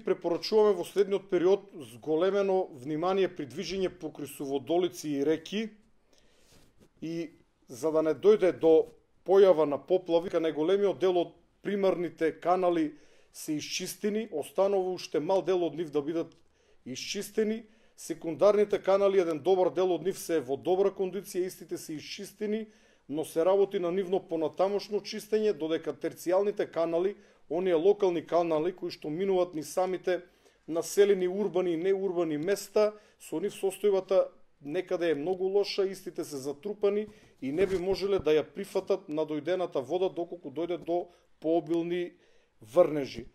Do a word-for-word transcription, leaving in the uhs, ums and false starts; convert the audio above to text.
Препорачуваме во следниот период зголемено внимание при движење покрај суводолици и реки и за да не дојде до појава на поплави, кај најголемиот дел од примарните канали се исчистени, останува уште мал дел од нив да бидат исчистени. Секундарните канали, еден добар дел од нив се во добра кондиција, истите се исчистени, но се работи на нивно понатамошно чистење, додека терцијалните канали, оние локални канали кои што минуваат ни самите населени урбани и неурбани места, со нив состојбата некаде е многу лоша, истите се затрупани и не би можеле да ја прифатат надојдената вода доколку дојде до пообилни врнежи.